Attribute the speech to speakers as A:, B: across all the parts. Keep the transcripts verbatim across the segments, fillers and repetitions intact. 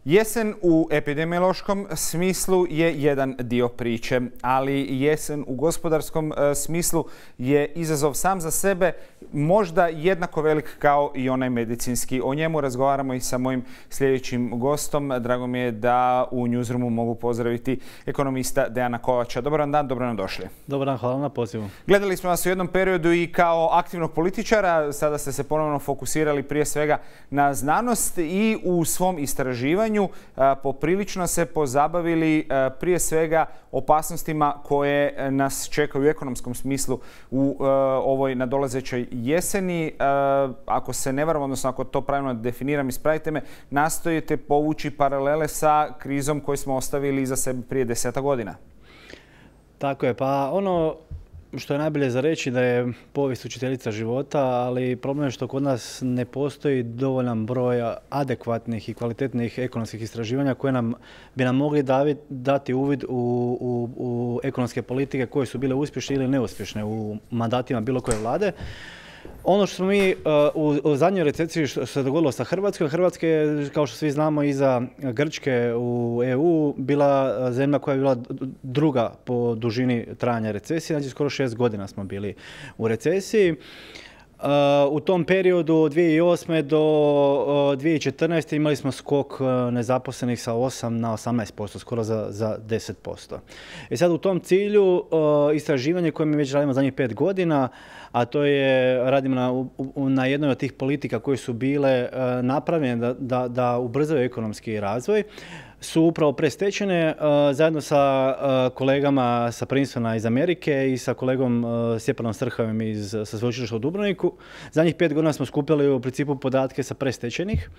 A: Jesen u epidemiološkom smislu je jedan dio priče, ali jesen u gospodarskom smislu je izazov sam za sebe, možda jednako velik kao i onaj medicinski. O njemu razgovaramo i sa mojim sljedećim gostom. Drago mi je da u Newsroomu mogu pozdraviti ekonomista Dejana Kovača. Dobar dan, dobro nam došli.
B: Dobar dan, hvala na pozivu.
A: Gledali smo vas u jednom periodu i kao aktivnog političara, sada ste se ponovno fokusirali prije svega na znanost i u svom istraživanju poprilično se pozabavili prije svega opasnostima koje nas čekaju u ekonomskom smislu u ovoj nadolazećoj jeseni. Ako se ne varam, odnosno ako to pravilno definiram, ispravite me, nastojite povući paralele sa krizom koju smo ostavili iza sebe prije deseta godina.
B: Tako je, pa ono što je najbolje za reći da je povijest učiteljica života, ali problem je što kod nas ne postoji dovoljan broj adekvatnih i kvalitetnih ekonomskih istraživanja koje nam, bi nam mogli dati uvid u, u, u ekonomske politike koje su bile uspješne ili neuspješne u mandatima bilo koje vlade. Ono što smo mi u, u zadnjoj recesiji što se dogodilo sa Hrvatskom, Hrvatska je, kao što svi znamo, iza Grčke u E U bila zemlja koja je bila druga po dužini trajanja recesije, znači skoro šest godina smo bili u recesiji. U tom periodu od dvije tisuće osme do dvije tisuće četrnaeste imali smo skok nezaposlenih sa osam na osamnaest posto, skoro za, za deset posto. I sad u tom cilju istraživanje koje mi već radimo zadnjih pet godina, a to je, radimo na, na jednoj od tih politika koje su bile napravljene da, da, da ubrzaju ekonomski razvoj, su upravo predstečene zajedno sa kolegama sa Princetona iz Amerike i sa kolegom Stjepanom Strhavim iz, sa sveučilišta u Dubrovniku. Zadnjih pet godina smo skupljali u principu podatke sa predstečenih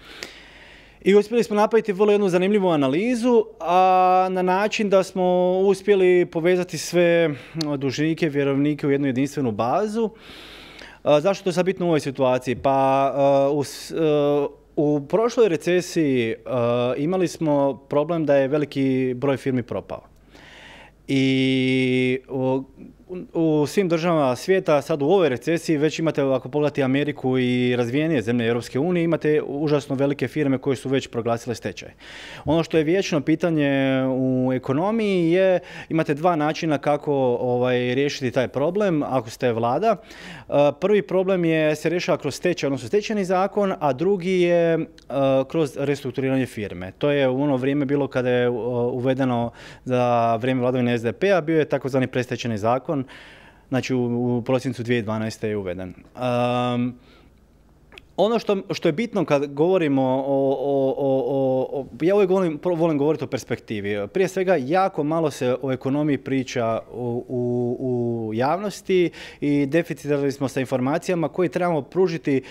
B: i uspjeli smo napraviti vrlo jednu zanimljivu analizu, a na način da smo uspjeli povezati sve dužnike, vjerovnike u jednu jedinstvenu bazu. Zašto to je sad bitno u ovoj situaciji? Pa u U prošloj recesiji uh, imali smo problem da je veliki broj firmi propao. I u, u svim državama svijeta, sad u ovoj recesiji, već imate, ako pogledate Ameriku i razvijenije zemlje Europske unije, imate užasno velike firme koje su već proglasile stečaj. Ono što je vječno pitanje u ekonomiji je, imate dva načina kako ovaj, riješiti taj problem, ako ste vlada. Uh, prvi problem je se rješava kroz stečaj, odnosno stečajni zakon, a drugi je uh, kroz restrukturiranje firme. To je u ono vrijeme bilo kada je uh, uvedeno za vrijeme vladavine S D P-a, bio je takozvani predstečajni zakon, znači u, u prosincu dvije tisuće dvanaeste je uveden. Um, ono što, što je bitno kad govorimo o, o, o, o ja uvijek volim, volim govoriti o perspektivi. Prije svega, jako malo se o ekonomiji priča u, u, u javnosti i deficitarni smo sa informacijama koje trebamo pružiti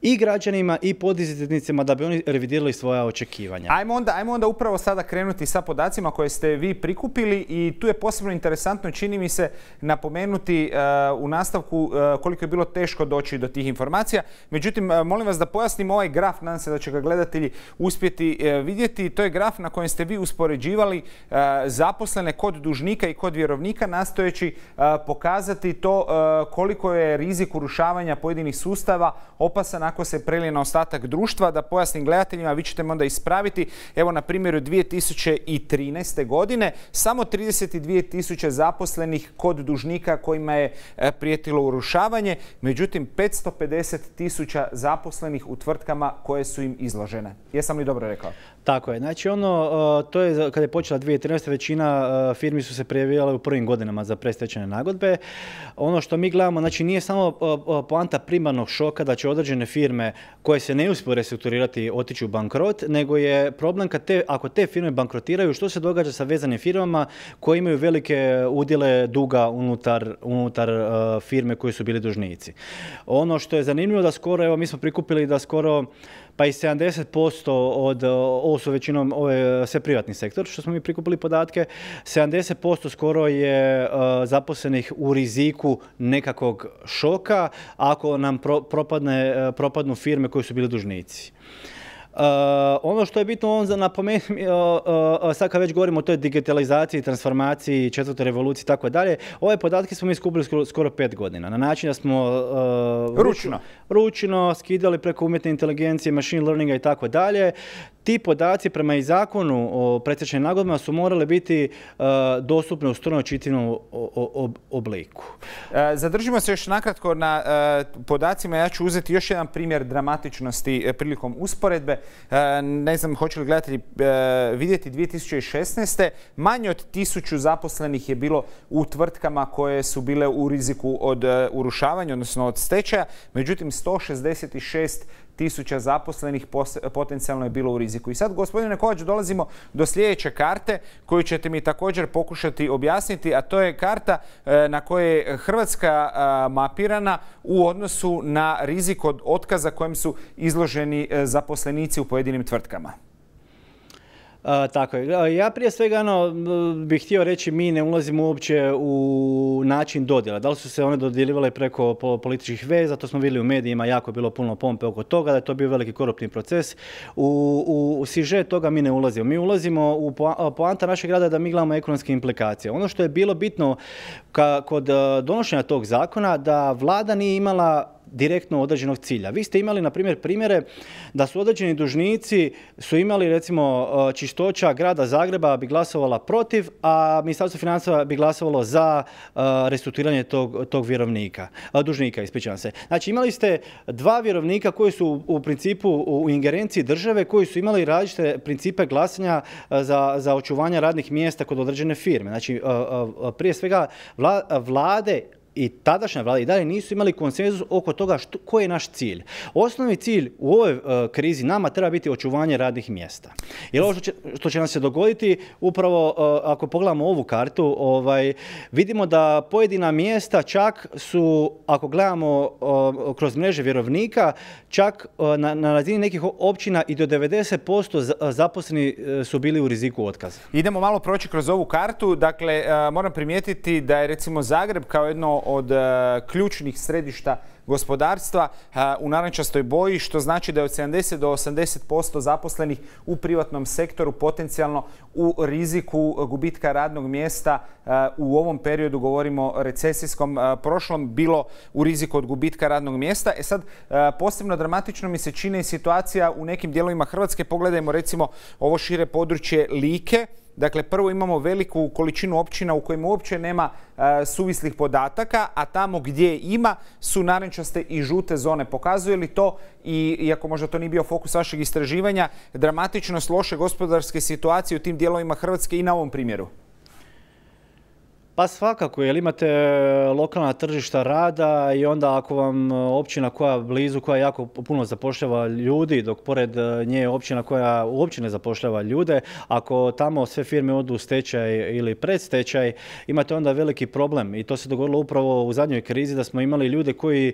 B: i građanima i poduzetnicima da bi oni revidirali svoja očekivanja.
A: Ajmo onda, ajmo onda upravo sada krenuti sa podacima koje ste vi prikupili i tu je posebno interesantno, čini mi se, napomenuti uh, u nastavku uh, koliko je bilo teško doći do tih informacija. Međutim, uh, molim vas da pojasnim ovaj graf, nadam se da će ga gledatelji uspjeti uh, vidjeti. To je graf na kojem ste vi uspoređivali uh, zaposlene kod dužnika i kod vjerovnika, nastojeći uh, pokazati to uh, koliko je rizik urušavanja pojedinih sustava opasan ako se prelije na ostatak društva. Da pojasnim gledateljima, vi ćete me onda ispraviti. Evo na primjeru dvije tisuće trinaeste. godine samo trideset dvije tisuće zaposlenih kod dužnika kojima je prijetilo urušavanje, međutim petsto pedeset tisuća zaposlenih u tvrtkama koje su im izložene. Jesam li dobro rekao?
B: Tako je. Znači ono, to je kada je počela dvije tisuće trinaeste. većina firmi su se prijavljivale u prvim godinama za predstečajne nagodbe. Ono što mi gledamo, znači nije samo poanta primarnog šoka da će određene firme koje se ne uspiju restrukturirati otići u bankrot, nego je problem kad te, ako te firme bankrotiraju, što se događa sa vezanim firmama koje imaju velike udjele duga unutar, unutar uh, firme koji su bili dužnici. Ono što je zanimljivo da skoro, evo mi smo prikupili da skoro pa i sedamdeset posto od, ovo su većinom ove, sve privatni sektor, što smo mi prikupili podatke, sedamdeset posto skoro je uh, zaposlenih u riziku nekakvog šoka ako nam pro, propadne, uh, propadnu firme koji su bili dužnici. Uh, ono što je bitno on za napomenuti, uh, uh, sad kad već govorimo o toj digitalizaciji, transformaciji, četvrtoj revoluciji i tako dalje, ove podatke smo mi skupili skoro, skoro pet godina. Na način da smo uh,
A: ručno.
B: ručno skidali preko umjetne inteligencije, machine learninga i tako dalje. ti podaci prema i zakonu o predstečajnim nagodbama su morali biti uh, dostupni u strojno čitljivom obliku.
A: E, zadržimo se još nakratko na e, podacima. Ja ću uzeti još jedan primjer dramatičnosti e, prilikom usporedbe. E, ne znam hoće li gledatelji e, vidjeti dvije tisuće šesnaeste. Manje od tisuću zaposlenih je bilo u tvrtkama koje su bile u riziku od e, urušavanja, odnosno od stečaja. Međutim, sto šezdeset šest tisuća zaposlenih potencijalno je bilo u riziku. I sad, gospodine Kovač, dolazimo do sljedeće karte koju ćete mi također pokušati objasniti, a to je karta na kojoj je Hrvatska mapirana u odnosu na rizik od otkaza kojem su izloženi zaposlenici u pojedinim tvrtkama.
B: A, tako je. Ja prije svega ono, bih htio reći mi ne ulazimo uopće u način dodjela. Da li su se one dodjeljivale preko političkih veza, to smo vidjeli u medijima, jako je bilo puno pompe oko toga, da je to bio veliki koruptivni proces. U, u, u sižet toga mi ne ulazimo. Mi ulazimo u poanta našeg rada da mi gledamo ekonomske implikacije. Ono što je bilo bitno ka, kod donošenja tog zakona, da vlada nije imala direktno određenog cilja. Vi ste imali, na primjer, primjere da su određeni dužnici su imali, recimo, čistoća grada Zagreba bi glasovala protiv, a Ministarstvo financija bi glasovalo za uh, restrukturiranje tog, tog vjerovnika, uh, dužnika, ispričavam se. Znači, imali ste dva vjerovnika koji su u, u principu u ingerenciji države, koji su imali različite principe glasanja uh, za, za očuvanje radnih mjesta kod određene firme. Znači, uh, uh, prije svega vla, vlade i tadašnja vlada i dalje nisu imali konsenzus oko toga što, koji je naš cilj. Osnovni cilj u ovoj uh, krizi nama treba biti očuvanje radnih mjesta. Jer ovo što će, što će nam se dogoditi, upravo uh, ako pogledamo ovu kartu, ovaj, vidimo da pojedina mjesta čak su, ako gledamo uh, kroz mreže vjerovnika, čak uh, na, na razini nekih općina i do devedeset posto zaposleni uh, su bili u riziku otkaza.
A: Idemo malo proći kroz ovu kartu. Dakle, uh, moram primijetiti da je recimo Zagreb kao jedno od uh, ključnih središta gospodarstva uh, u narančastoj boji, što znači da je od sedamdeset do osamdeset posto zaposlenih u privatnom sektoru potencijalno u riziku gubitka radnog mjesta. Uh, u ovom periodu, govorimo o recesijskom uh, prošlom, bilo u riziku od gubitka radnog mjesta. E sad, uh, posebno dramatično mi se čini situacija u nekim dijelovima Hrvatske. Pogledajmo recimo ovo šire područje Like. Dakle, prvo imamo veliku količinu općina u kojima uopće nema uh, suvislih podataka, a tamo gdje ima su narančaste i žute zone. Pokazuje li to, i iako možda to nije bio fokus vašeg istraživanja, dramatičnost loše gospodarske situacije u tim dijelovima Hrvatske i na ovom primjeru?
B: Pa svakako, jer imate lokalna tržišta rada i onda ako vam općina koja blizu, koja jako puno zapošljava ljudi, dok pored nje je općina koja uopće ne zapošljava ljude, ako tamo sve firme odu u stečaj ili predstečaj, imate onda veliki problem. I to se dogodilo upravo u zadnjoj krizi, da smo imali ljude koji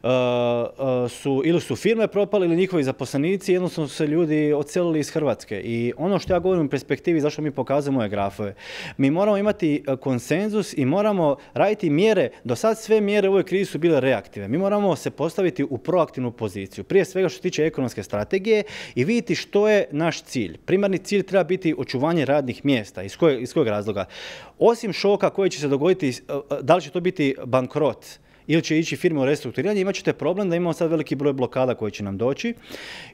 B: Uh, uh, su ili su firme propali ili njihovi zaposlenici, jednostavno su se ljudi odselili iz Hrvatske. I ono što ja govorim u perspektivi, zašto mi pokazujemo ove grafove, mi moramo imati konsenzus i moramo raditi mjere. Do sad sve mjere u ovoj krizi su bile reaktive. Mi moramo se postaviti u proaktivnu poziciju. Prije svega što se tiče ekonomske strategije i vidjeti što je naš cilj. Primarni cilj treba biti očuvanje radnih mjesta. Iz kojeg, iz kojeg razloga? Osim šoka koji će se dogoditi, da li će to biti bankrot ili će ići firme u restrukturiranje, imat ćete problem da imamo sad veliki broj blokada koji će nam doći.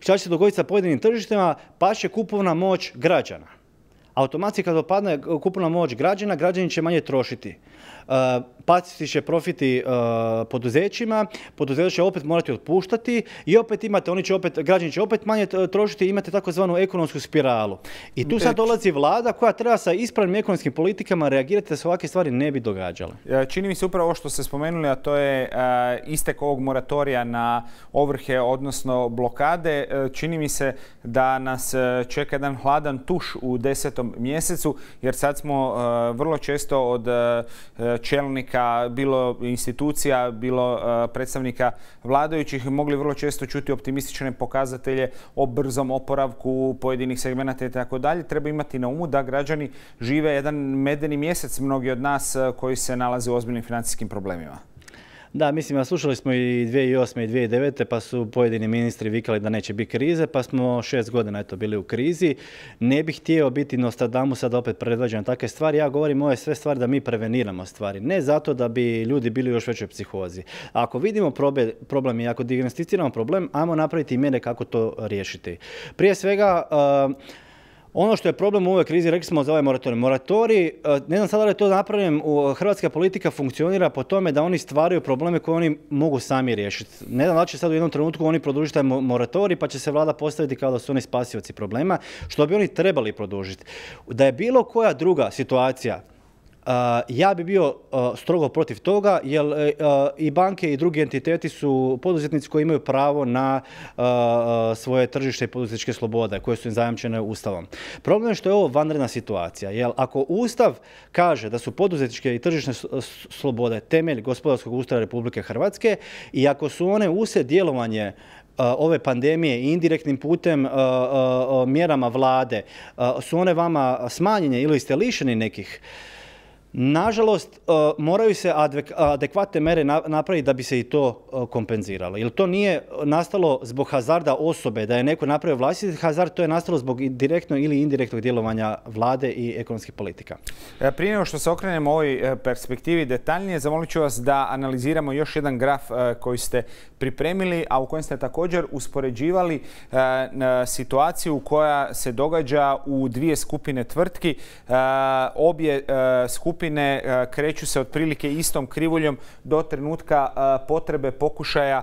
B: Šta će se dogoditi sa pojedinim tržištima? Pa će kupovna moć građana. Automatski kad opadne kupovna moć građana, građani će manje trošiti. Uh, pasti će profiti uh, poduzećima, poduzeća će opet morati otpuštati i opet imate, oni će opet, građani će opet manje trošiti i imate takozvanu ekonomsku spiralu. I tu sad dolazi vlada koja treba sa ispravnim ekonomskim politikama reagirati da se ovakve stvari ne bi događale.
A: Čini mi se upravo ovo što ste spomenuli, a to je uh, istek ovog moratorija na ovrhe, odnosno blokade. Uh, čini mi se da nas uh, čeka jedan hladan tuš u desetom mjesecu, jer sad smo uh, vrlo često od uh, čelnika, bilo institucija, bilo uh, predstavnika vladajućih, mogli vrlo često čuti optimistične pokazatelje o brzom oporavku pojedinih segmenata i tako dalje. Treba imati na umu da građani žive jedan medeni mjesec, mnogi od nas uh, koji se nalaze u ozbiljnim financijskim problemima.
B: Da, mislim, slušali smo i dvije tisuće osme i dvije tisuće devete pa su pojedini ministri vikali da neće biti krize, pa smo šest godina eto bili u krizi. Ne bih htio biti Nostradamus, sad opet predvađam takve stvari. Ja govorim ove sve stvari da mi preveniramo stvari. Ne zato da bi ljudi bili u još većoj psihozi. Ako vidimo problem i ako dijagnosticiramo problem, ajmo napraviti mjere kako to riješiti. Prije svega, uh, ono što je problem u ovoj krizi, rekli smo za ovaj moratorij. Moratorij, ne znam sada da je to napravljen, hrvatska politika funkcionira po tome da oni stvaraju probleme koje oni mogu sami riješiti. Ne znam da će sad u jednom trenutku oni produžiti taj moratorij pa će se vlada postaviti kao da su oni spasioci problema, što bi oni trebali produžiti. Da je bilo koja druga situacija, Uh, ja bi bio uh, strogo protiv toga, jer uh, i banke i drugi entiteti su poduzetnici koji imaju pravo na uh, svoje tržište i poduzetničke slobode koje su im zajamčene Ustavom. Problem je što je ovo vanredna situacija, jer ako Ustav kaže da su poduzetničke i tržišne slobode temelj gospodarskog ustroja Republike Hrvatske i ako su one uslijed djelovanje Uh, ove pandemije i indirektnim putem uh, uh, mjerama vlade, uh, su one vama smanjene ili ste lišeni nekih, nažalost, moraju se adekvatne mere napraviti da bi se i to kompenziralo. Jer to nije nastalo zbog hazarda osobe, da je neko napravio vlastiti hazard, to je nastalo zbog direktnog ili indirektnog djelovanja vlade i ekonomskih politika.
A: Prije nego što se okrenemo ovoj perspektivi detaljnije, zamolit ću vas da analiziramo još jedan graf koji ste pripremili, a u kojem ste također uspoređivali situaciju koja se događa u dvije skupine tvrtki. Obje skupine Skupine kreću se otprilike istom krivuljom do trenutka potrebe pokušaja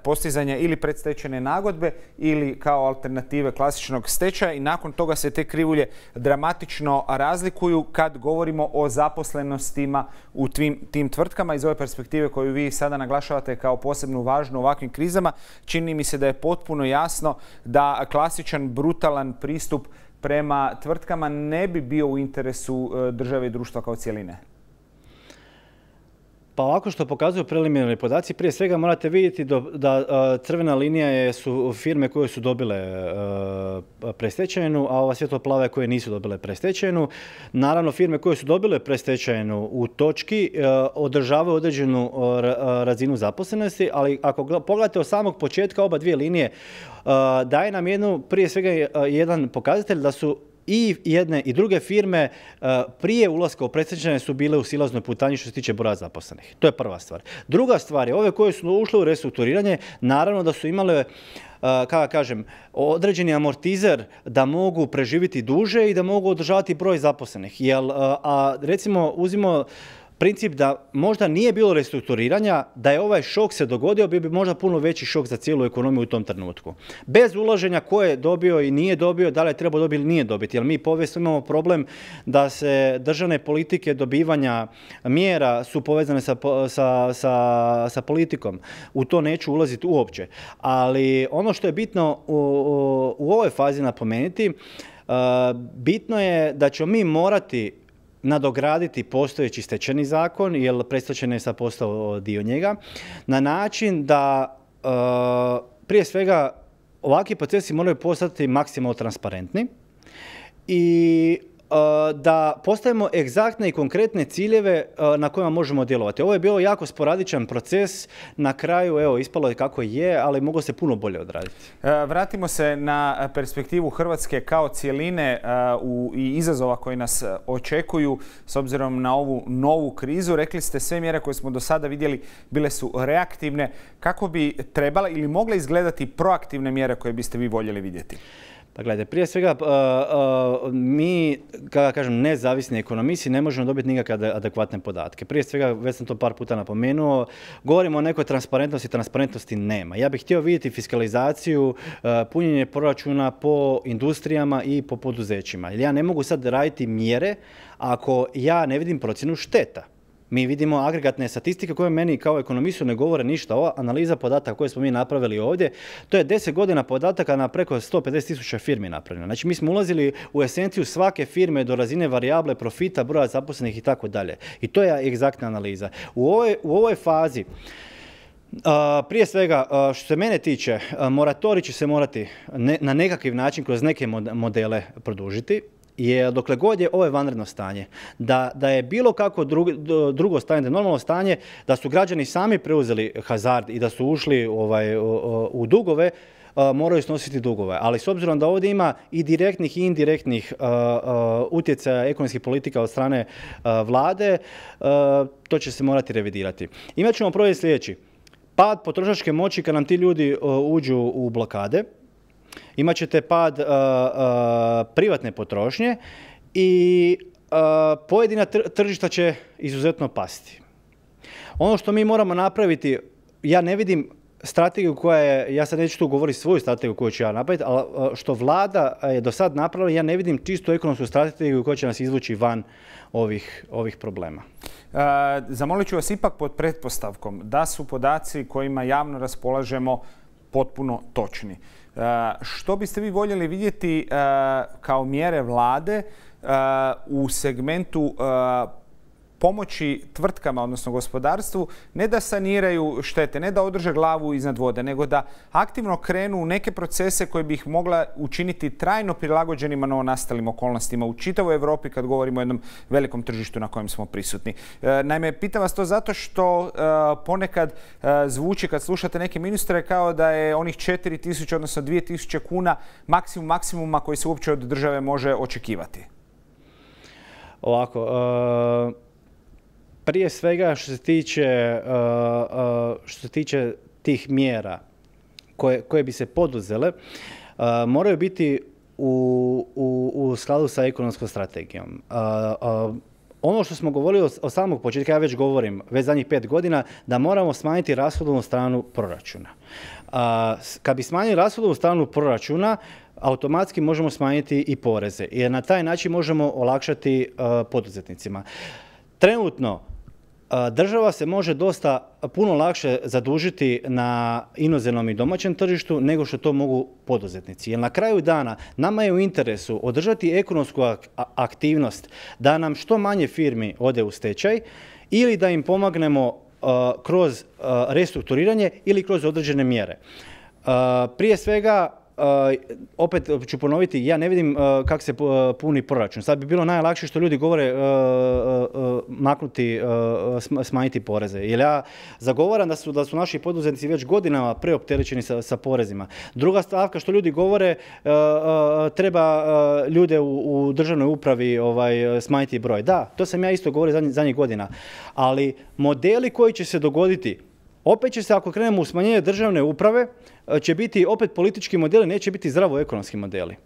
A: postizanja ili predstečajne nagodbe ili kao alternative klasičnog stečaja i nakon toga se te krivulje dramatično razlikuju kad govorimo o zaposlenostima u tim, tim tvrtkama. Iz ove perspektive koju vi sada naglašavate kao posebno važnu u ovakvim krizama, čini mi se da je potpuno jasno da klasičan brutalan pristup prema tvrtkama ne bi bio u interesu države i društva kao cijeline?
B: Pa ovako što pokazuju preliminarni podaci, prije svega morate vidjeti da crvena linija su firme koje su dobile predstečajnu, a ova svjetlo-plave koje nisu dobile predstečajnu. Naravno, firme koje su dobile predstečajnu u točki održavaju određenu razinu zaposlenosti, ali ako pogledate od samog početka oba dvije linije, daje nam jednu, prije svega jedan pokazatelj da su i jedne i druge firme prije ulaska u predstečajne su bile u silaznoj putanji što se tiče broja zaposlenih. To je prva stvar. Druga stvar je, ove koje su ušle u restrukturiranje, naravno da su imale, kako kažem, određeni amortizer da mogu preživjeti duže i da mogu održavati broj zaposlenih. Jer, a recimo, uzimo princip da možda nije bilo restrukturiranja, da je ovaj šok se dogodio, bi bi možda puno veći šok za cijelu ekonomiju u tom trenutku. Bez ulaženja ko je dobio i nije dobio, da li je trebao dobiti ili nije dobiti. Jer mi povijesno imamo problem da se državne politike dobivanja mjera su povezane sa, sa, sa, sa politikom. U to neću ulaziti uopće. Ali ono što je bitno u, u, u ovoj fazi napomenuti, uh, bitno je da ćemo mi morati nadograditi postojeći stečajni zakon, jer predstečajni je sad postao dio njega, na način da e, prije svega ovakvi procesi moraju postati maksimalno transparentni i da postavimo egzaktne i konkretne ciljeve na kojima možemo djelovati. Ovo je bio jako sporadičan proces, na kraju evo ispalo je kako je, ali moglo se puno bolje odraditi.
A: Vratimo se na perspektivu Hrvatske kao cijeline u, i izazova koji nas očekuju s obzirom na ovu novu krizu. Rekli ste sve mjere koje smo do sada vidjeli bile su reaktivne. Kako bi trebala ili mogle izgledati proaktivne mjere koje biste vi voljeli vidjeti?
B: Pa gledajte, prije svega uh, uh, mi, kada kažem, nezavisni ekonomisti ne možemo dobiti nikakve adekvatne podatke. Prije svega, već sam to par puta napomenuo, govorimo o nekoj transparentnosti, transparentnosti nema. Ja bih htio vidjeti fiskalizaciju, uh, punjenje proračuna po industrijama i po poduzećima. Jer ja ne mogu sad raditi mjere ako ja ne vidim procjenu šteta. Mi vidimo agregatne statistike koje meni kao ekonomistu ne govore ništa. Ova analiza podataka koje smo mi napravili ovdje, to je deset godina podataka na preko sto pedeset tisuća firmi napravljeno. Znači mi smo ulazili u esenciju svake firme do razine varijable profita, broja zaposlenih i tako dalje. I to je egzaktna analiza. U ovoj, u ovoj fazi, Uh, prije svega, uh, što se mene tiče, uh, moratorij će se morati ne, na nekakav način kroz neke modele produžiti. je dokle god je ovo vanredno stanje, da, da je bilo kako drugo, drugo stanje, da je normalno stanje, da su građani sami preuzeli hazard i da su ušli ovaj, u dugove, moraju snositi dugove. Ali s obzirom da ovdje ima i direktnih i indirektnih uh, uh, utjecaja ekonomskih politika od strane uh, vlade, uh, to će se morati revidirati. Imat ćemo projekt sljedeći. Pad potrošačke moći kad nam ti ljudi uh, uđu u blokade. Imat ćete pad uh, uh, privatne potrošnje i uh, pojedina tržišta će izuzetno pasti. Ono što mi moramo napraviti, ja ne vidim strategiju koja je, ja sad neću tu govoriti svoju strategiju koju ću ja napraviti, ali što vlada je do sad napravila, ja ne vidim čistu ekonomsku strategiju koja će nas izvući van ovih, ovih problema.
A: E, zamolit ću vas ipak pod pretpostavkom da su podaci kojima javno raspolažemo potpuno točni. E, što biste vi voljeli vidjeti e, kao mjere vlade e, u segmentu e, pomoći tvrtkama, odnosno gospodarstvu, ne da saniraju štete, ne da održe glavu iznad vode, nego da aktivno krenu u neke procese koje bi ih mogla učiniti trajno prilagođenima novonastalim okolnostima u čitavoj Europi kad govorimo o jednom velikom tržištu na kojem smo prisutni. E, naime, pitam vas to zato što e, ponekad e, zvuči kad slušate neke ministre kao da je onih četiri tisuće, odnosno dvije tisuće kuna maksimum maksimuma koji se uopće od države može očekivati.
B: Ovako, e... Prije svega što se tiče, uh, uh, što se tiče tih mjera koje, koje bi se poduzele, uh, moraju biti u, u, u skladu sa ekonomskom strategijom. Uh, uh, ono što smo govorili od samog početka, ja već govorim, već zadnjih pet godina, da moramo smanjiti rashodovnu stranu proračuna. Uh, kad bi smanjili rashodovnu stranu proračuna, automatski možemo smanjiti i poreze, jer na taj način možemo olakšati uh, poduzetnicima. Trenutno država se može dosta puno lakše zadužiti na inozemnom i domaćem tržištu nego što to mogu poduzetnici. Jer na kraju dana nama je u interesu održati ekonomsku aktivnost da nam što manje firmi ode u stečaj ili da im pomognemo uh, kroz uh, restrukturiranje ili kroz određene mjere. Uh, prije svega, Uh, opet ću ponoviti, ja ne vidim uh, kako se uh, puni proračun. Sad bi bilo najlakše što ljudi govore uh, uh, maknuti, uh, smanjiti poreze. Jer ja zagovaram da su, da su naši poduzetnici već godinama preopterećeni sa, sa porezima. Druga stavka što ljudi govore, uh, uh, treba uh, ljude u, u državnoj upravi ovaj, smanjiti broj. Da, to sam ja isto govorio zadnjih, zadnjih godina. Ali modeli koji će se dogoditi, opet će se, ako krenemo u smanjenje državne uprave, će biti opet politički modeli, neće biti zdravo ekonomski modeli.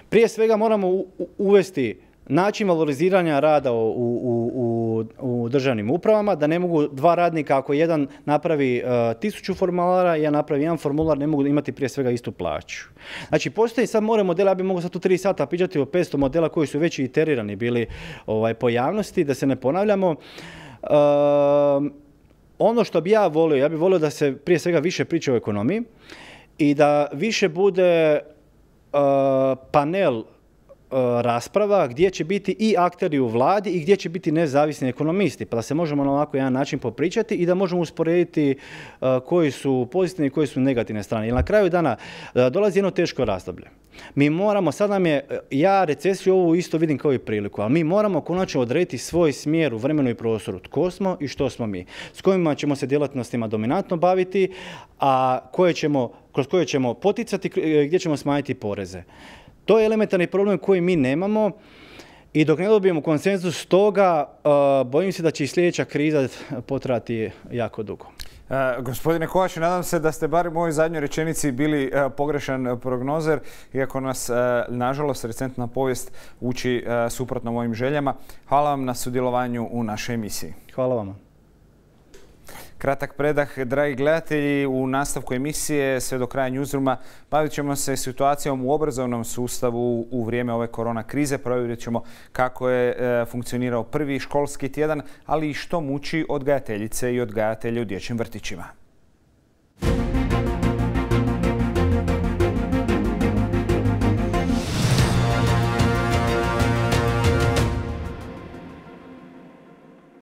B: Prije svega moramo uvesti način valoriziranja rada u, u, u, u državnim upravama, da ne mogu dva radnika, ako jedan napravi uh, tisuću formulara i ja napravi jedan formular, ne mogu imati prije svega istu plaću. Znači, postoji sad more modela, ja bih mogao sad tu tri sata pričati o petsto modela koji su već iterirani bili ovaj, po javnosti, da se ne ponavljamo. Uh, Ono što bi ja volio, ja bih volio da se prije svega više priča o ekonomiji i da više bude uh, panel uh, rasprava gdje će biti i akteri u vladi i gdje će biti nezavisni ekonomisti, pa da se možemo na ovako jedan način popričati i da možemo usporediti uh, koji su pozitivne i koji su negativne strane. Jer na kraju dana uh, dolazi jedno teško razdoblje. Mi moramo, sad nam je, ja recesiju ovu isto vidim kao i priliku, ali mi moramo konačno odrediti svoj smjer u vremenu i prostoru. Tko smo i što smo mi. S kojima ćemo se djelatnostima dominantno baviti, a koje ćemo, kroz koje ćemo poticati, gdje ćemo smanjiti poreze. To je elementarni problem koji mi nemamo i dok ne dobijemo konsenzus toga, uh, bojim se da će i sljedeća kriza potrajati jako dugo.
A: Uh, gospodine Kovač, nadam se da ste bar u mojoj zadnjoj rečenici bili uh, pogrešan prognozer, iako nas, uh, nažalost, recentna povijest uči uh, suprotno mojim željama. Hvala vam na sudjelovanju u našoj emisiji.
B: Hvala vam.
A: Kratak predah, dragi gledatelji, u nastavku emisije sve do kraja Newsrooma bavit ćemo se situacijom u obrazovnom sustavu u vrijeme ove korona krize. Provjerit ćemo kako je e, funkcionirao prvi školski tjedan, ali i što muči odgajateljice i odgajatelje u dječjim vrtićima.